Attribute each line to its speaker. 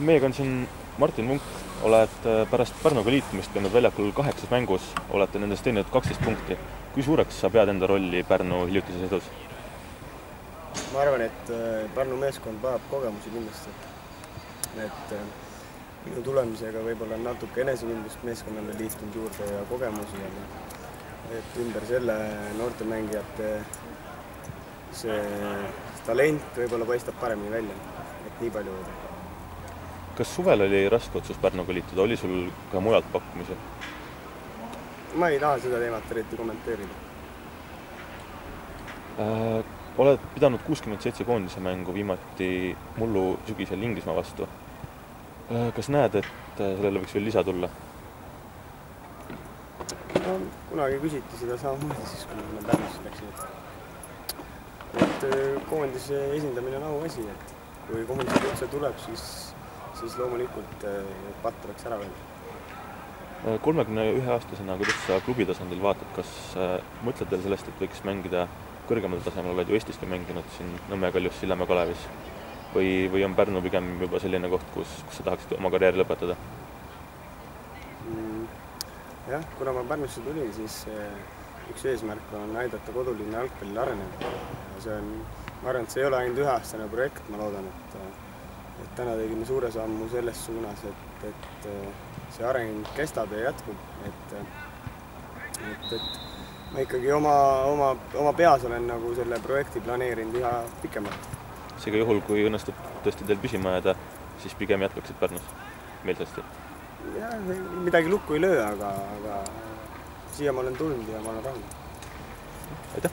Speaker 1: Meiega on siin Martin Munk, oled pärast Pärnuga liitumist käinud väljakul 8 mängus, olete nendest teeninud 12 punkti. Kui suureks sa pead enda rolli Pärnu hiljutises edus?
Speaker 2: Ma arvan, et Pärnu meeskond vajab kogemusi kindlasti. Et minu tulemisega võib-olla on natuke enesekindlust meeskonnale liitunud juurde ja kogemusi. Et ümber selle noorte mängijate see talent võib-olla paistab paremini välja. Et nii palju võida.
Speaker 1: Kas suvel oli raske otsus Pärnuga liituda? Oli sul ka mujalt pakkumisi?
Speaker 2: Ma ei taha seda teemat eriti kommenteerida.
Speaker 1: Oled pidanud 67 koondise mängu viimati mullu sügisel Inglismaa vastu. Kas näed, et sellele võiks veel lisa tulla?
Speaker 2: No, kunagi küsiti seda samamoodi siis, kui me Pärnusse läksid. Et koondise esindamine on auasi, et kui koondise üldse tuleb, siis loomulikult patt oleks ära veel.
Speaker 1: 31-aastasena, kuidas sa klubi tasandil vaatad, kas mõtled veel sellest, et võiks mängida kõrgemal tasemel, oled ju Eestiski mänginud siin Nõmme Kaljus, Sillamäe Kalevis? Või on Pärnu pigem juba selline koht, kus sa tahaksid oma karjääri lõpetada?
Speaker 2: Jah, kuna ma Pärnusse tulin, siis üks eesmärk on aidata kodulinna jalgpallil areneda. Ma arvan, et see ei ole ainult üheaastane projekt, ma loodan, et täna tegime suure sammu selles suunas, et see areng kestab ja jätkub. Et ma ikkagi oma peas olen nagu selle projekti planeerinud üha pikemalt.
Speaker 1: Seega juhul, kui õnnestub tõesti teil püsima jääda, siis pigem jätkaksid Pärnus meelsasti?
Speaker 2: Jah, midagi lukku ei löö, aga siia ma olen tulnud ja ma olen rahul.
Speaker 1: Aitäh!